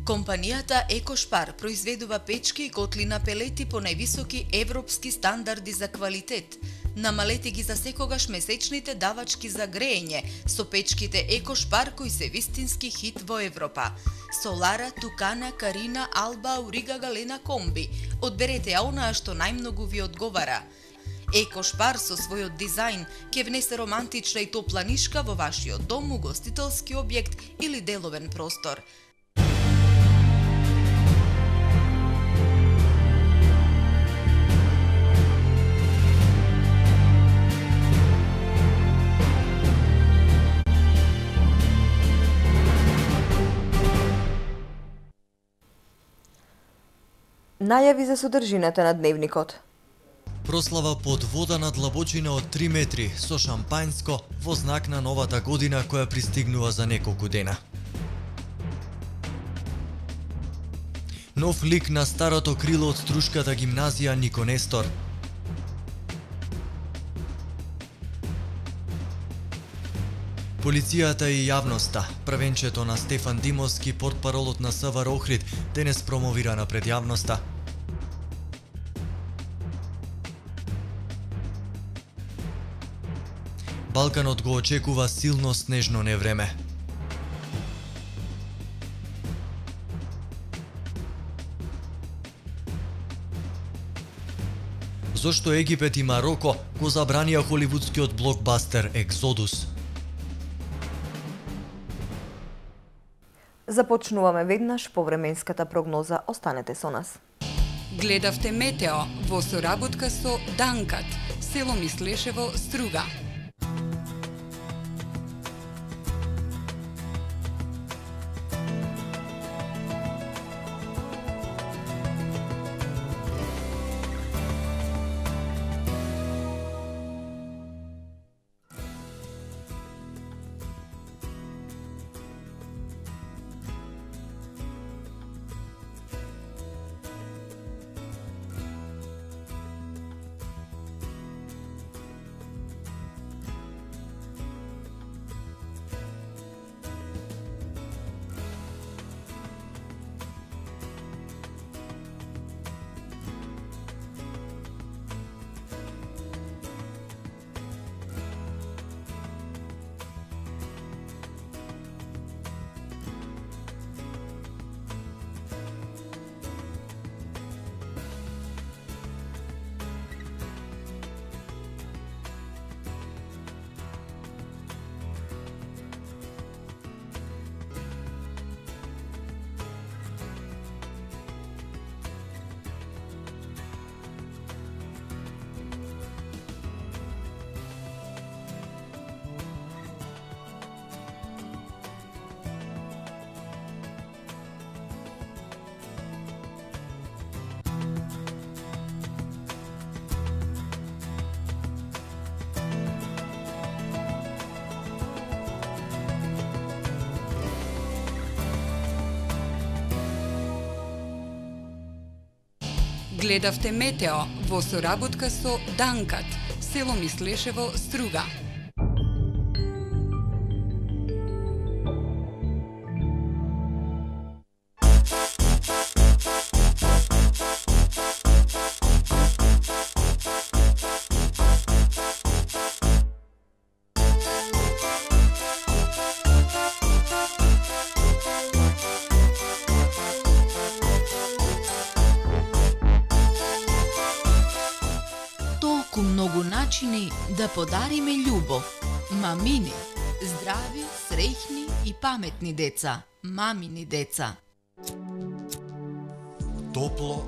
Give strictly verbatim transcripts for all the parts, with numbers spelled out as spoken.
Компанијата Екошпар произведува печки и котли на пелети по највисоки европски стандарди за квалитет. Намалете ги за секогаш месечните давачки за греење со печките Екошпар кои се вистински хит во Европа. Солара, Тукана, Карина, Алба, Аурига, Галена, Комби. Одберете ја онаа што најмногу ви одговара. Екошпар со својот дизајн ќе внесе романтична и топла нишка во вашиот дом, угостителски објект или деловен простор. Најави за содржината на дневникот. Прослава под вода на длабочина од три метри со шампањско во знак на новата година која пристигнува за неколку дена. Нов лик на старото крило од Струшката гимназија Нико Нестор. Полицијата и јавноста. Првенчето на Стефан Димовски, портпаролот на СВР Охрид, денес промовирана пред јавноста. Балканот го очекува силно снежно невреме. Зошто Египет и Мароко го забранија холивудскиот блокбастер Екзодус? Започнуваме веднаш по временската прогноза. Останете со нас. Гледавте Метео во соработка со Данкат, село Мислешево, Струга. Гледавте Метео во соработка со Данкат, село Мислешево, Струга. Многу начини да подариме љубов. Мамини, здрави, среќни и паметни деца. Мамини деца. Топло,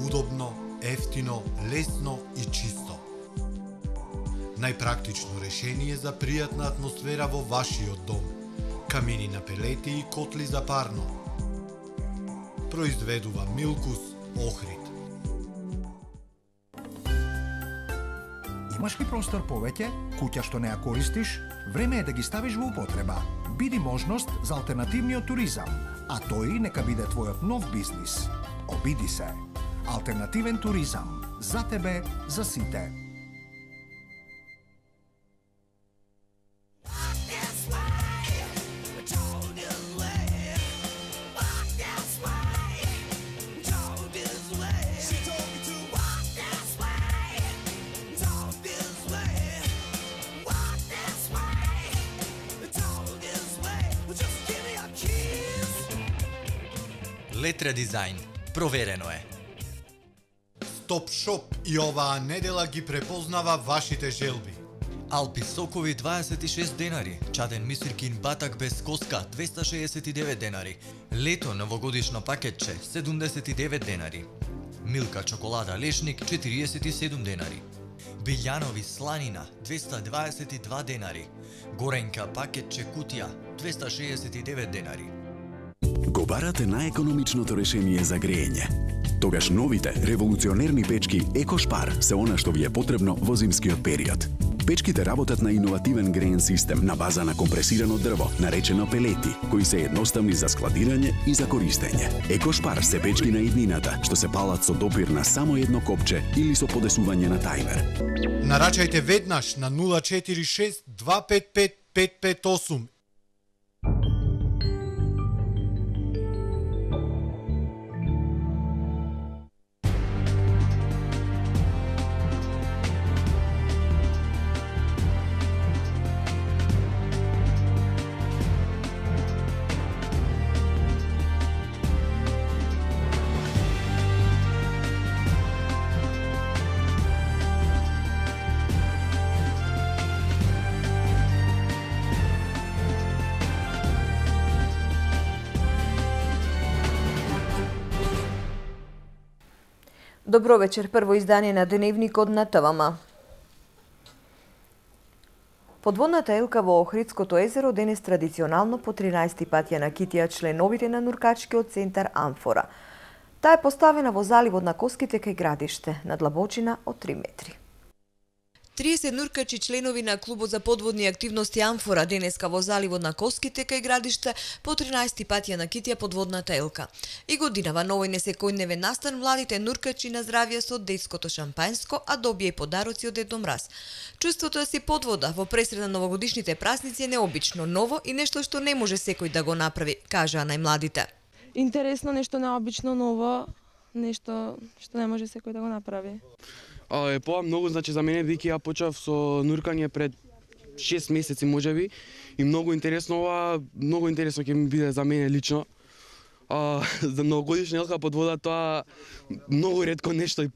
удобно, ефтино, лесно и чисто. Најпрактично решение за пријатна атмосфера во вашиот дом. Камини на пелети и котли за парно. Произведува Милкус Охрид. Имаш ли простор повеќе, куќа што не ја користиш? Време е да ги ставиш во употреба. Биди можност за алтернативниот туризам, а тој нека биде твојот нов бизнис. Обиди се. Алтернативен туризам. За тебе, за сите. Летре дизајн. Проверено е. Стоп Шоп и оваа недела ги препознава вашите желби. Алпи сокови дваесет и шест денари, чаден мисиркин батак без коска двеста шеесет и девет денари, лето новогодишно пакетче седумдесет и девет денари, Милка чоколада лешник четириесет и седум денари, Билјанови сланина двеста дваесет и два денари, Горенка пакетче кутија двеста шеесет и девет денари. Го барате најекономичното решение за грејење. Тогаш новите револуционерни печки Екошпар се она што ви е потребно во зимскиот период. Печките работат на иновативен греен систем на база на компресирано дрво, наречено пелети, кои се едноставни за складирање и за користење. Екошпар се печки на иднината, што се палат со допир на само едно копче или со подесување на тајмер. Нарачајте веднаш на нула четири шест два пет пет пет пет осум. Добро вечер, прво издание на Деневникот на ТВМ. Подводната елка во Охридското езеро денес традиционално по тринаесети пат ја накитија членовите на нуркачкиот центар Амфора. Таа е поставена во заливот на Коските кај градиште, на длабочина од три метри. триесет нуркачи членови на клубот за подводни активности Амфора денеска во заливот на Коските кај градиште по тринаесети пат ја накитија подводната елка. И годинава на овој несекојдневен настан младите нуркачи наздравија со детското шампањско, а добија и подароци од Дедо Мраз. Чувството да си под вода во пресред на новогодишните празници е необично, ново и нешто што не може секој да го направи, кажаа најмладите. Интересно, нешто необично, ново, нешто што не може секој да го направи. А, е па многу, значи за мене бидејќи ја почнав со нуркање пред шест месеци можеби и многу интересно ова, многу интересно ќе ми биде за мене лично. А, за новогодишна елка под вода тоа многу ретко нешто.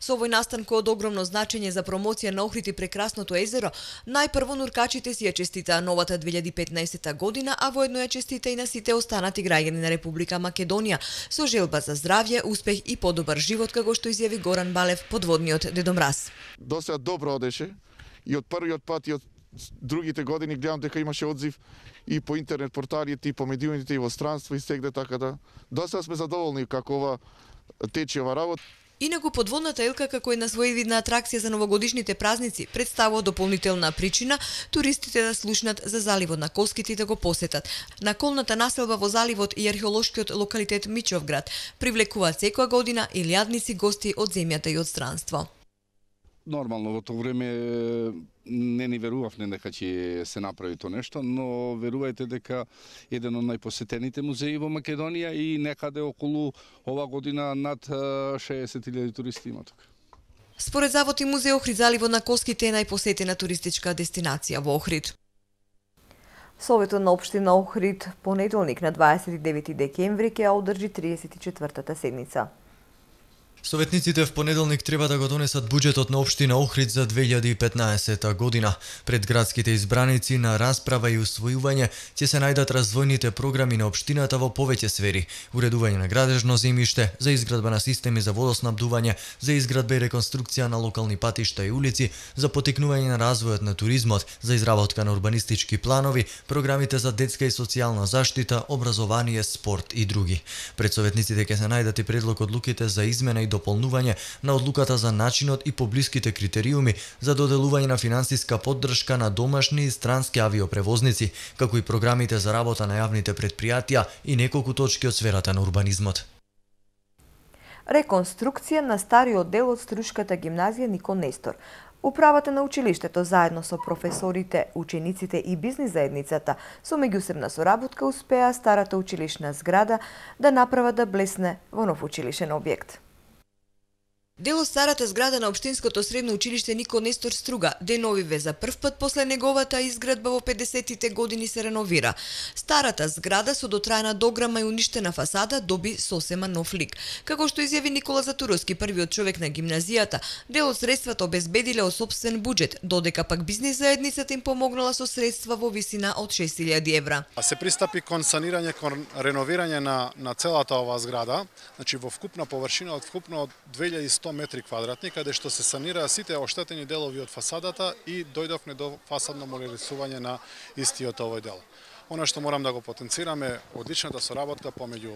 Со овој настан кој од огромно значење за промоција на Охрид и прекрасното езеро, најпрво нуркачите си ја честитаа новата две илјади и петнаесета година, а воедно ја честита и на сите останати граѓани на Република Македонија, со желба за здравје, успех и подобар живот, како што изјави Горан Балев, подводниот Дедо Мраз. Досега добро одеше и од првиот пат и од другите години гледам дека имаше одзив и по интернет порталите, и по медиумите, и во странство, и сегде, така да. Досега сме задоволни како ова тече ова работа. Инаку подводната елка како една своевидна атракција за новогодишните празници представува дополнителна причина туристите да слушнат за заливот на Коските и да го посетат. Наколната населба во заливот и археолошкиот локалитет Мичовград привлекуваат секоја година илјадници гости од земјата и од странство. Нормално во тоа време не ни верувавме дека ќе се направи тоа нешто, но верувајте дека еден од најпосетените музеи во Македонија и некаде околу ова година над шеесет илјади туристи има тука. Според Завод и музеј Охрид, заливот на Коските е најпосетена туристичка дестинација во Охрид. Советот на општина Охрид понеделник на дваесет и девети декември ќе одржи триесет и четвртата седница. Советниците в понеделник треба да го донесат буџетот на општина Охрид за две илјади и петнаесета година. Пред градските избраници на расправа и усвојување ќе се најдат развојните програми на општината во повеќе сфери: уредување на градежно земјиште, за изградба на системи за водоснабдување, за изградба и реконструкција на локални патишта и улици, за поттикнување на развојот на туризмот, за изработка на урбанистички планови, програмите за детска и социјална заштита, образование, спорт и други. Пред советниците ќе се најдат и предлог одлуките за измена и дополнување на одлуката за начинот и поблиските критериуми за доделување на финансиска поддршка на домашни и странски авиопревозници, како и програмите за работа на јавните претпријатија и неколку точки од сферата на урбанизмот. Реконструкција на стариот дел од Струшката гимназија Нико Нестор. Управата на училиштето заедно со професорите, учениците и бизнис заедницата со меѓусебна соработка успеа старата училишна зграда да направат да блесне во нов училишен објект. Дел од старата зграда на Општинското средно училиште Нико Нестор Струга, деновиве за прв пат после неговата изградба во педесетите години се реновира. Старата зграда со дотраена дограма и уништена фасада доби сосема нов лик. Како што изјави Никола Затуровски, првиот човек на гимназијата, дел од средствата обезбедиле од сопствен буџет, додека пак бизнис заедницата им помогнала со средства во висина од шест илјади евра. Се пристапи кон санирање, кон реновирање на на целата оваа зграда, значи во вкупна површина од вкупно од две илјади и сто метри квадратни, каде што се санираа сите оштетени делови од фасадата и дојдовме до фасадно модернизување на истиот овој дел. Она што морам да го потенцираме, одличната соработка помеѓу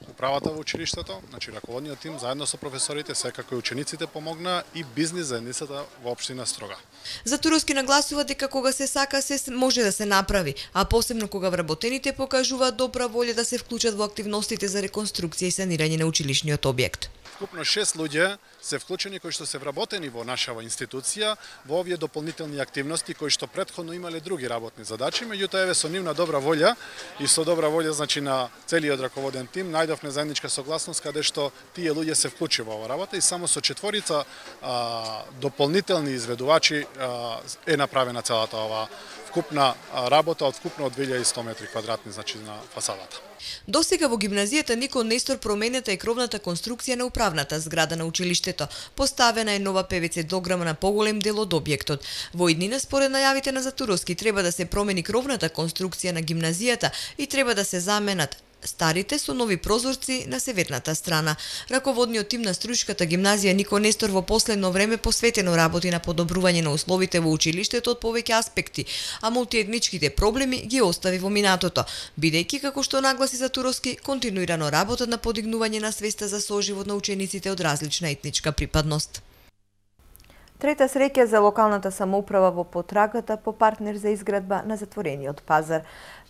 управата во училиштето, значи раководниот тим заедно со професорите, секако и учениците помогнаа и бизнис заедницата во општина Строга. Затуровски нагласува дека кога се сака се може да се направи, а посебно кога вработените покажуваат добра волја да се вклучат во активностите за реконструкција и санирање на училишниот објект. Вкупно шест луѓе се вклучени кои што се вработени во нашава институција во овие дополнителни активности кои што претходно имале други работни задачи, меѓутоа еве со нивна добра волја и со добра волја значи на целиот раководен тим најдовме заедничка согласност каде што тие луѓе се вклучи во оваа работа и само со четворица а, дополнителни изведувачи а, е направена целата оваа вкупна работа од вкупно од две илјади и сто метри квадратни значи на фасадата. Досега во гимназијата Нико Нестор променета е кровната конструкција на управната зграда на училиштето. Поставена е нова пе ве це дограма на поголем дел од објектот. Во иднина, според најавите на Затуровски, треба да се промени кровната конструкција на гимназијата и треба да се заменат старите со нови прозорци на северната страна. Раководниот тим на Струшката гимназија Нико Нестор во последно време посветено работи на подобрување на условите во училиштето од повеќе аспекти, а мултиетничките проблеми ги остави во минатото, бидејќи, како што нагласи Затуровски, континуирано работат на подигнување на свеста за соживот на учениците од различна етничка припадност. Трета среќа за локалната самоуправа во потрагата по партнер за изградба на затворениот пазар.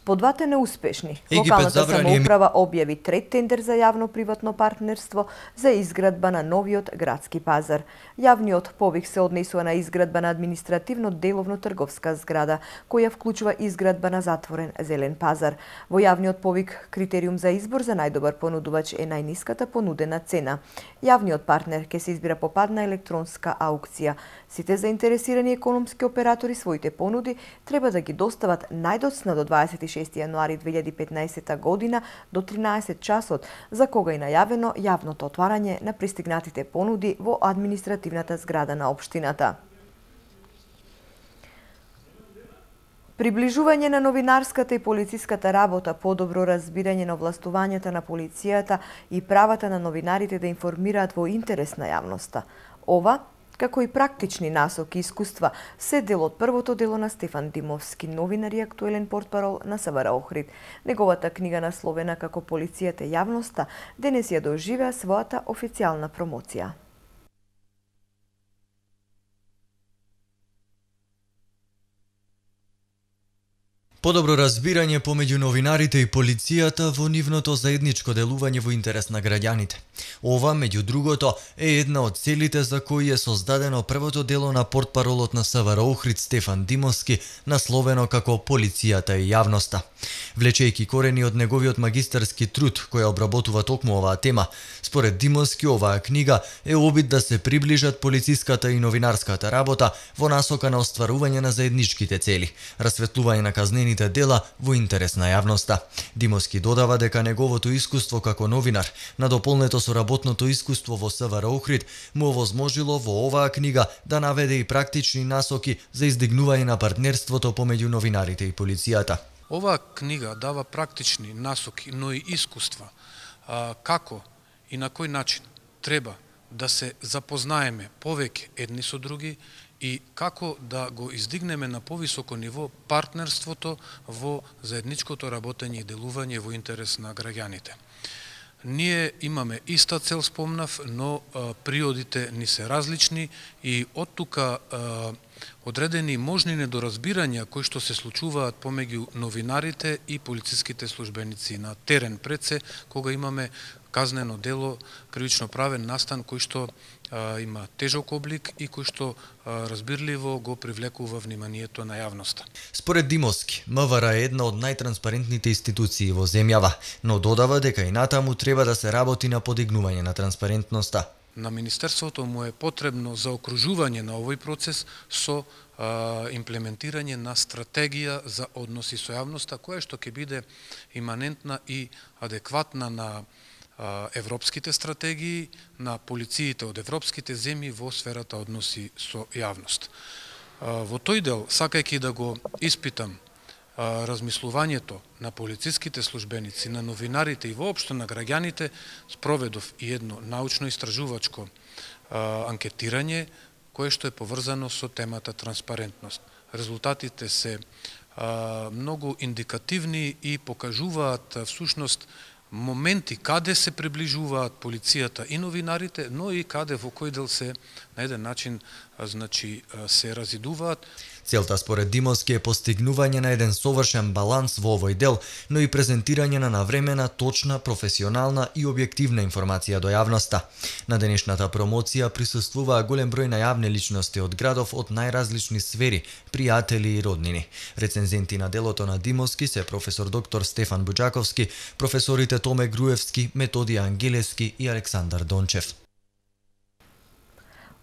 По двата неуспешни, локалната самоуправа објави трет тендер за јавно-приватно партнерство за изградба на новиот градски пазар. Јавниот повик се однесува на изградба на административно деловно трговска зграда, која вклучува изградба на затворен зелен пазар. Во јавниот повик критериум за избор за најдобар понудувач е најниската понудена цена. Јавниот партнер ќе се избира по пат на електронска аукција. Сите заинтересирани економски оператори своите понуди треба да ги достават најдоцна до дваесет и шести јануари две илјади и петнаесета година до тринаесет часот, за кога е најавено јавното отварање на пристигнатите понуди во административната зграда на општината. Приближување на новинарската и полициската работа, подобро разбирање на властувањата на полицијата и правата на новинарите да информираат во интерес на јавноста. Ова, како и практични насоки и искуства, се дел од првото дело на Стефан Димовски, новинар и актуелен портпарол на СВР Охрид. Неговата книга насловена како Полицијата и јавноста денес ја доживеа својата официјална промоција. Подобро разбирање помеѓу новинарите и полицијата во нивното заедничко делување во интерес на граѓаните. Ова, меѓу другото, е една од целите за кои е создадено првото дело на портпаролот на СВР Охрид Стефан Димовски, насловено како Полицијата и јавноста. Влечејќи корени од неговиот магистарски труд, која обработува токму оваа тема, според Димовски оваа книга е обид да се приближат полициската и новинарската работа во насока на остварување на заедничките цели, расветлување на казнени дела во интерес на јавноста. Димовски додава дека неговото искуство како новинар, надополнето со работното искуство во СВР Охрид, му овозможило во оваа книга да наведе и практични насоки за издигнување на партнерството помеѓу новинарите и полицијата. Оваа книга дава практични насоки, но и искуства а, како и на кој начин треба да се запознаеме повеќе едни со други и како да го издигнеме на повисоко ниво партнерството во заедничкото работење и делување во интерес на граѓаните. Ние имаме иста цел, спомнав, но а, приодите ни се различни и од тука а, одредени можни недоразбирања кои што се случуваат помеѓу новинарите и полициските службеници на терен пред се, кога имаме казнено дело, кривично правен настан кој што а, има тежок облик и кој што а, разбирливо го привлекува вниманието на јавноста. Според Димовски, МВР е една од најтранспарентните институции во земјава, но додава дека и натаму треба да се работи на подигнување на транспарентноста. на Министерството му е потребно заокружување на овој процес со а, имплементирање на стратегија за односи со јавноста, која што ќе биде иманентна и адекватна на а, европските стратегии, на полициите од европските земји во сферата односи со јавност. А, во тој дел, сакајќи да го испитам размислувањето на полициските службеници, на новинарите и воопшто на граѓаните, спроведов и едно научно-истражувачко анкетирање кое што е поврзано со темата транспарентност. Резултатите се а, многу индикативни и покажуваат всушност моменти каде се приближуваат полицијата и новинарите, но и каде во кој дел се на еден начин значи се разидуваат. Целта според Димовски е постигнување на еден совршен баланс во овој дел, но и презентирање на навремена, точна, професионална и објективна информација до јавноста. На денешната промоција присуствуваа голем број најавни личности од градов од најразлични сфери, пријатели и роднини. Рецензенти на делото на Димовски се професор доктор Стефан Буџаковски, професорите Томе Груевски, Методија Ангелевски и Александар Дончев.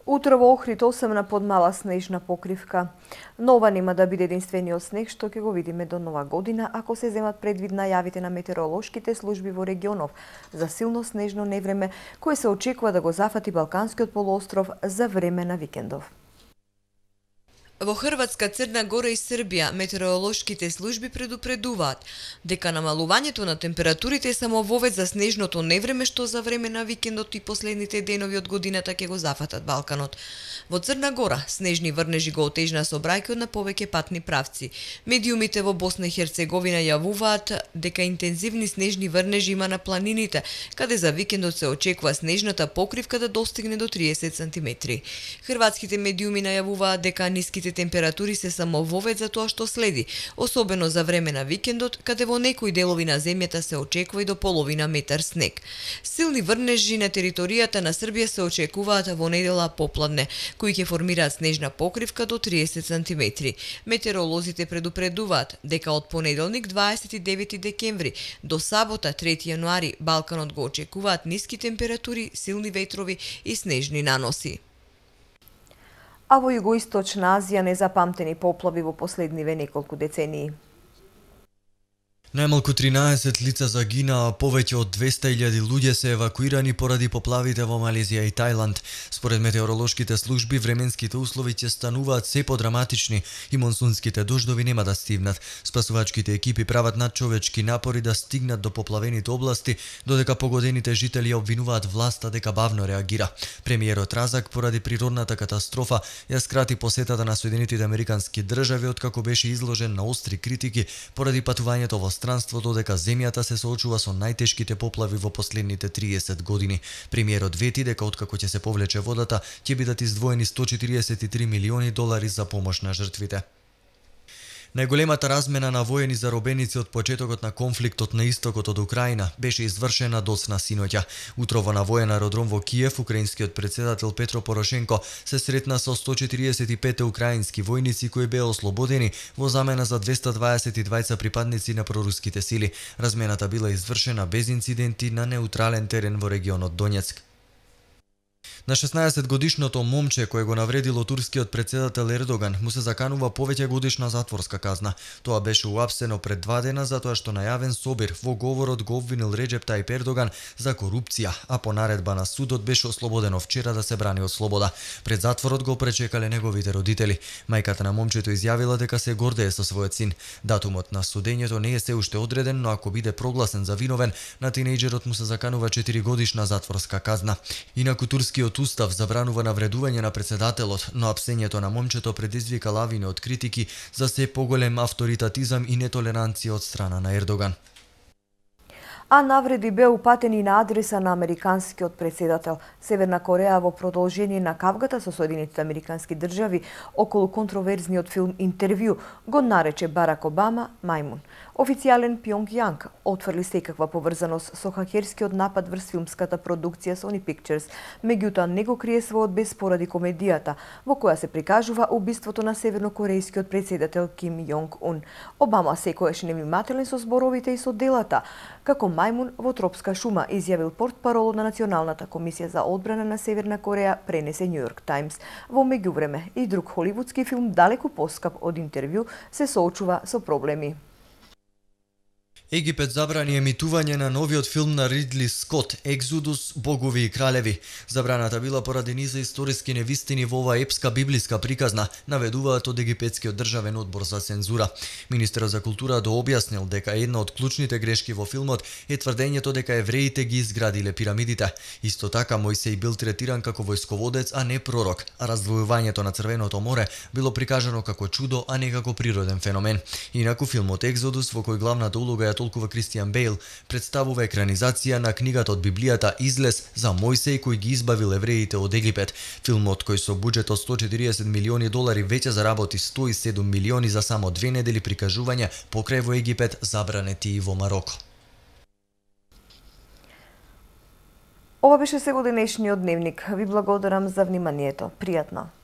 Утро во Охрид осемна подмала снежна покривка. Но ова нема да биде единствениот снег што ќе го видиме до нова година, ако се земат предвид најавите на метеоролошките служби во регионов за силно снежно невреме, кое се очекува да го зафати Балканскиот полуостров за време на викендов. Во Хрватска, Црна Гора и Србија метеоролошките служби предупредуваат дека намалувањето на температурите е само вовед за снежното невреме што за време на викендот и последните денови од годината ќе го зафатат Балканот. Во Црна Гора снежни врнежи го отежна сообраќајот на повеќе патни правци. Медиумите во Босна и Херцеговина јавуваат дека интензивни снежни врнежи има на планините, каде за викендот се очекува снежната покривка да достигне до триесет сантиметри. Хрватските медиуми најавуваат дека ниските температури се само вовед за тоа што следи, особено за време на викендот, каде во некои делови на земјата се очекува и до половина метар снег. Силни врнежи на територијата на Србија се очекуваат во недела попладне, кои ќе формираат снежна покривка до триесет сантиметри. Метеоролозите предупредуваат дека од понеделник дваесет и девети декември до сабота трети јануари Балканот го очекуваат ниски температури, силни ветрови и снежни наноси. А во Југоисточна Азија незапамтени поплави во последниве неколку децении. Најмалку тринаесет лица загинаа, повеќе од двесте илјади луѓе се евакуирани поради поплавите во Малезија и Тајланд. Според метеоролошките служби, временските услови ќе стануваат се подраматични и монсунските дождови нема да стивнат. Спасувачките екипи прават надчовечки напори да стигнат до поплавените области, додека погодените жители обвинуваат власта дека бавно реагира. Премиерот Разак поради природната катастрофа ја скрати посетата на Соединетите Американски држави откако беше изложен на остри критики поради патувањето во странство, додека земјата се соочува со најтешките поплави во последните триесет години. Премиерот вети дека откако ќе се повлече водата, ќе бидат издвоени сто четириесет и три милиони долари за помош на жртвите. Најголемата размена на воени заробеници од почетокот на конфликтот на истокот од Украина беше извршена доцна синоќа. Утрово на воен аеродром во Киев, украинскиот председател Петро Порошенко се сретна со сто четириесет и пет украински војници кои беа ослободени во замена за двесте дваесет и двајца припадници на проруските сили. Размената била извршена без инциденти на неутрален терен во регионот Донецк. На шеснаесет годишното момче кое го навредило турскиот председател Ердоган му се заканува повеќе годишна затворска казна. Тоа беше уапсено пред два дена затоа што најавен собир во говорот го обвинил Реджеп Тајип Ердоган за корупција, а по наредба на судот беше ослободено вчера да се брани од слобода. Пред затворот го пречекале неговите родители. Мајката на момчето изјавила дека се гордее со својот син. Датумот на судењето не е се уште одреден, но ако биде прогласен за виновен, на тинејџерот му се заканува четири годишна затворска казна. Инаку турскиот устав забранува навредување на председателот, но апсењето на момчето предизвика лавина од критики за се поголем авторитатизам и нетолеранција од страна на Ердоган. А навреди беа упатени на адреса на американскиот председател. Северна Кореја во продолжение на кавгата со Соединетите Американски држави околу контроверзниот филм Интервју го нарече Барак Обама мајмун. Официјален Пјонгјанг отфрли секаква поврзаност со хакерскиот напад врз филмската продукција Sony Pictures, меѓутоа не го крие својот бес поради комедијата во која се прикажува убиството на севернокорејскиот председател Ким Јонг Ун. Обама секојаш невнимателен со зборовите и со делата, како мајмун во тропска шума, изјавил портпарол на Националната комисија за одбрана на Северна Кореја, пренесе Нью Йорк Таймс. Во меѓувреме и друг холивудски филм, далеку поскап од интервју, се соочува со проблеми. Египет забрани емитување на новиот филм на Ридли Скот, Екзодус, богови и кралеви. Забраната била поради низа историски невистини во оваа епска библиска приказна, наведуваат од египетскиот државен одбор за цензура. Министерот за култура дообјаснил дека една од клучните грешки во филмот е тврдењето дека евреите ги изградиле пирамидите. Исто така Мојсеј бил третиран како војсководец, а не пророк, а раздвојувањето на Црвеното море било прикажано како чудо, а не како природен феномен. Инаку филмот Екзодус, во кој главната улога ја толкува Кристијан Бейл, представува екранизација на книгата од Библијата Излез за Мојсеј кој ги избавил евреите од Египет. Филмот, кој со буџет од сто и четириесет милиони долари веќе заработи сто и седум милиони за само две недели прикажување покрај во Египет, забранети и во Мароко. Ова беше се денешниот дневник. Ви благодарам за вниманието. Пријатно.